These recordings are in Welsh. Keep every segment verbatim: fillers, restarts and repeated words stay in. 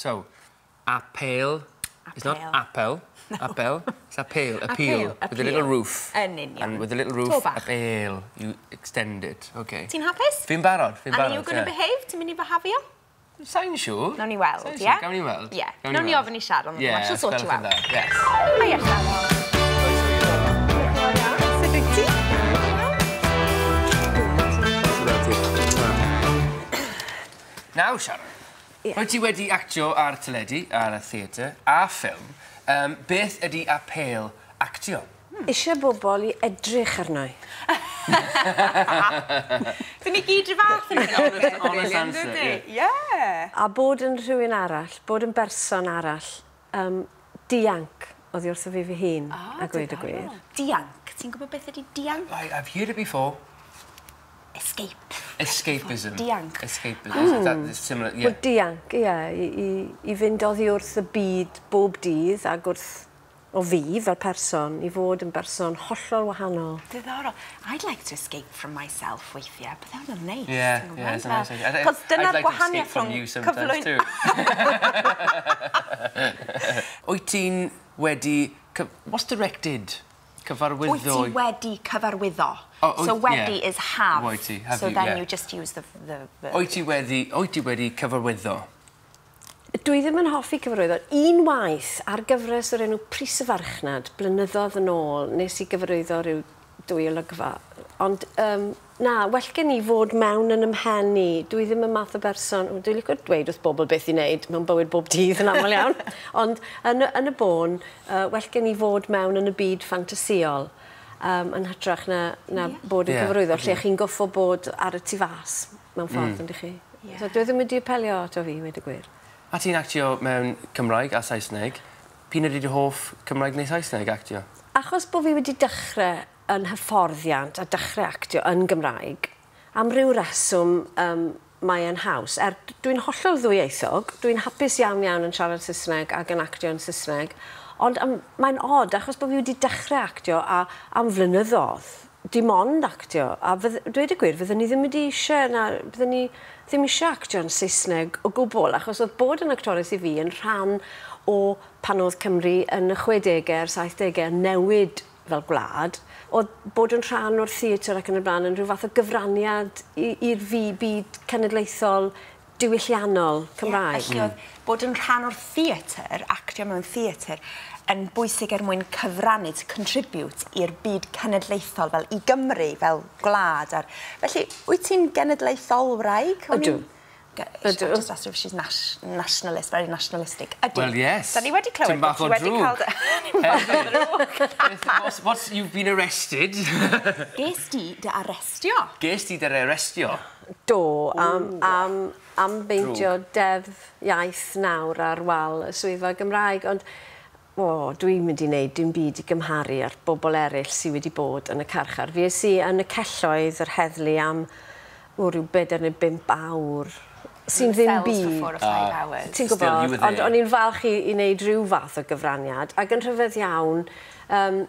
So, apêl. It's not apel. No. Apel. It's appeal. Appeal. With a little roof. Yn union. And with a little roof, apêl. You extend it. Okay. Ti'n hapus? Fi'n barod. Fi'n barod. And are you going to behave? Ti'n mynd i behafio? Sa'n siŵr. Nawn ni weld, ie? Gawn ni weld. Ie. Nawn ni ofyn i Sharon. Yeah, she'll sort you out. Yes. Hiya, Sharon. Sut wyt ti? Nawr, Sharon. Wyt ti wedi actio ar teledu, ar y theatr, a ffilm. Um, beth ydy apêl actio? Hmm. Eisiau bobl i edrych arno i. Dyn ni gyd rhyw fath yn Honest, honest answer, yeah. Yeah. A bod yn rhywun arall, bod yn berson arall, um, dianc oddi wrtho fi fy hun, oh, a gweud y gwir. Dianc? Ti'n gwybod beth ydy dianc? I, I've heard it before. Escape. Escapism. Dianc. Escapism. Mm. That is similar, yeah. Wel, dianc, ie. Yeah, i, i, i fynd oddi wrth y byd bob dydd ac wrth o fi fel person, i fod yn berson hollol wahanol. Diddorol. I'd like to escape from myself weithiau, but that would nice. Yeah, yeah, it's a nice idea. Cos dyna'r I'd like to escape gwahaniaeth from rhwng you sometimes cyflwyn... too. Wyt ti'n wedi... What's directed? Cyfarwyddo? Wyt ti wedi cyfarwyddo. Oh, so wedi yeah. is have. Wyt ti, have so you, then yeah. you just use the... the, the... Wyt ti wedi, wyt ti wedi cyfarwyddo? Dwi ddim yn hoffi cyfarwyddo. Un waith ar gyfres o'r enw Pris y Farchnad, blynyddoedd yn ôl, nes i gyfarwyddo rhyw dwy olygfa. Ond, um, na, well gen i fod mewn yn ymhen i. Dwi ddim yn math o berson... Dwi'n licio dweud wrth bobl beth i wneud mewn bywyd bob dydd yn aml iawn. Ond yn, yn y bôn, uh, well gen i fod mewn yn y byd ffantasïol um, yn hytrach na, na yeah. bod yn yeah. cyfarwyddo, lle chi'n goffo bod ar y tu fas mewn ffordd, mm. yndych chi. Yeah. So, dwi ddim wedi apelio ato fi, wedi gwir. A ti'n actio mewn Cymraeg a Saesneg. P'un ydy dy hoff Cymraeg neu Saesneg actio? Achos bod fi wedi dechrau yn hyfforddiant a dechrau actio yn Gymraeg, am ryw reswm um, mae yn haws. Er, dwi'n hollol ddwyieithog, dwi'n hapus iawn iawn yn siarad Saesneg ac yn actio yn Saesneg, ond um, mae'n od achos bod fi wedi dechrau actio a, am flynyddoedd, dim ond actio. A fydd, dweud y gwir, fyddwn ni ddim wedi eisiau, na, fyddwn ni ddim eisiau actio yn Saesneg o gwbl, achos oedd bod yn actores i fi yn rhan o pan oedd Cymru yn y chwedegau a'r saithdegau newid fel gwlad, oedd bod yn rhan o'r theatr ac yn y blaen yn rhyw fath o gyfraniad i'r fi byd cenedlaethol diwylliannol Cymraeg. Yeah, felly oedd bod yn rhan o'r theatr, actio mewn theatr, yn bwysig er mwyn cyfrannu, to contribute i'r byd cenedlaethol, fel i Gymru, fel gwlad. Ar... Felly, wyt ti'n genedlaetholwraig? Ydw. Ydw. Just asked her if she's nationalist, very nationalistic. Ydw. Well, yes. Da ni wedi clywed Ti'n bach o drwg. Ti'n bach o drwg. What's, what's, you've been arrested. Ges di dy arestio? Ges di dy arestio? Do, am, am, am beidio deddf iaith nawr ar wal y swyddfa Gymraeg, ond o, dwi'n mynd i wneud dim byd i gymharu â'r bobl eraill sydd wedi bod yn y carchar. Fi es i yn y celloedd yr heddlu am o, rhyw bedair neu bump awr sy'n ddim byd. Uh, Ti'n gwybod, ond o'n i'n falch i, i wneud rhyw fath o gyfraniad, ac yn rhyfedd iawn, um,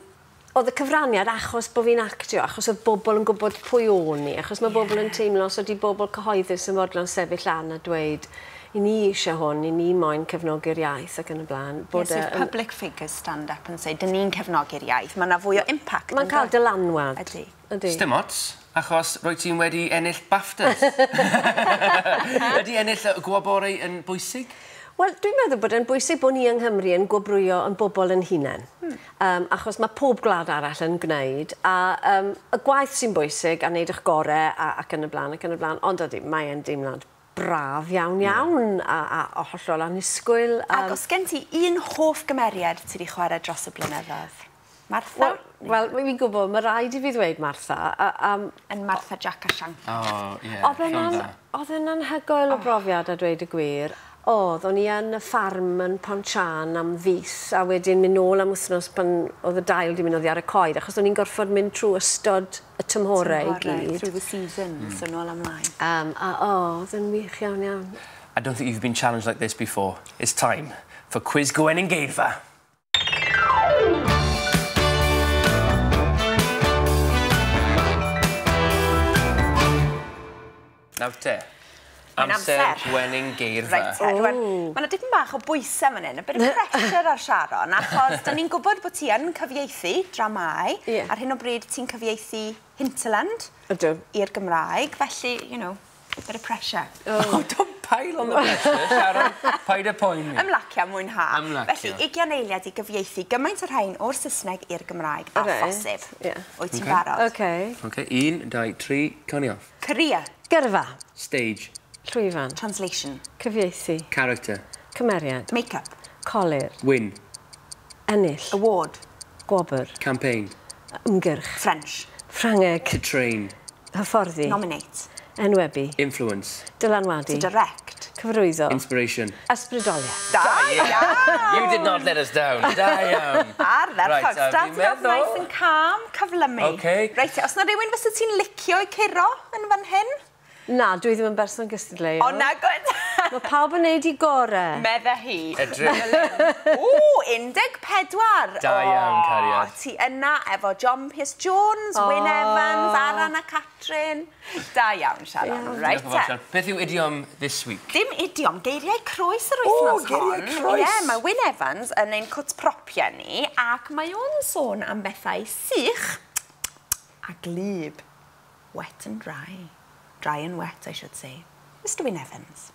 oedd y cyfraniad achos bod fi'n actio, achos oedd bobl yn gwybod pwy o'n i, achos mae bobl yn teimlo, os ydy bobl cyhoeddus yn fodlon sefyll lan a dweud, i ni eisiau hwn, i ni moyn cefnogi'r iaith ac yn y blaen. Bod yes, if public figures stand up and say, dyn ni'n cefnogi'r iaith, mae yna fwy o impact. Mae'n cael dylanwad. Ydy. Ydy. Sdim ots, achos rwy ti'n wedi ennill BAFTAs. Ydy ennill y gwobrau yn bwysig? Wel, dwi'n meddwl bod e'n bwysig bod ni yng Nghymru yn gwobrwyo yn bobl yn hunain. Hmm. Um, achos mae pob gwlad arall yn gwneud, a um, y gwaith sy'n bwysig a wneud eich gorau a, ac yn y blaen ac yn y blaen, ond ydy, mae e'n deimlad braf iawn iawn a, a, a hollol annisgwyl. Um, Ac os gen ti un hoff gymeriad ti wedi chwarae dros y blynyddoedd? Martha? Wel, well, fi'n gwybod, mae rhaid i fi ddweud Martha. A, um, yn Martha Jack a Shank. Oh, ie. Oedd e'n anhygoel o brofiad a dweud y gwir. Oedd, o'n i yn y ffarm yn Pontsian am fis, a wedyn mynd nôl am wythnos pan oedd y dail di mynd oddi ar y coed, achos o'n i'n gorfod mynd trwy ystod y tymhorau i gyd. Through the seasons, mm. so nôl ymlaen. Um, a o, oedd yn wych iawn iawn. I don't think you've been challenged like this before. It's time for Cwis Gwenyn Geirfa. Nawr te. Mae'n Amser amser. Gwenyn geirfa. Reit, te, rwan, mae yna dipyn bach o bwysau fan hyn, a bit of pressure ar Sharon, achos da ni'n gwybod bod ti yn cyfieithu dramau. Ie. Ar hyn o bryd ti'n cyfieithu Hinterland Ydw. i'r Gymraeg, felly, you know, bit of pressure. Oh, don't pile on the pressure, Sharon. Paid â poeni. Ymlacio, mwynha. Ymlacio. Felly, ugain eiliad i gyfieithu gymaint o'r rhain o'r Saesneg i'r Gymraeg a Reit, phosib. ie. Wyt ti'n Ocê. barod? Okay. Okay, un, dau, tri, cawn ni off. Career, Gyrfa. Stage, Llwyfan. translation, Cyfieithu. character, Cymeriad. make-up, Colur. win, Ennill. award, Gwobr. campaign, Ymgyrch. French, Ffrangeg. to train, Hyfforddi. nominate, Enwebu. influence, Dylanwadu. to direct. Cyfarwyddo. inspiration. Ysbrydoliaeth. Da iawn! You did not let us down. Da iawn. Ardderchog. Right, a fi'n Start off meddwl- nice and calm, cyflymu. Ocê. Reit, os na rhywun fysa ti'n licio i curo yn fan hyn? Na, dwi ddim yn berson gystadleuol. O, na, good. Mae pawb yn neud i gorau. Medde hi. Edrych. O, un deg pedwar. Da iawn, cariad. Ti yna efo John Pierce Jones, oh. Wyn Evans, Aran a Catrin. Da iawn, Sharon. Reit Diolch yn fawr, te. Sharon. Beth yw idiom this week? Dim idiom, geiriau croes yr wythnos O, geiriau hon. croes. Ie, mae Wyn Evans yn ein cwt propiau ni ac mae o'n sôn am bethau sych a glyb. Wet and dry. Dry and wet, I should say. Mr Wyn Evans.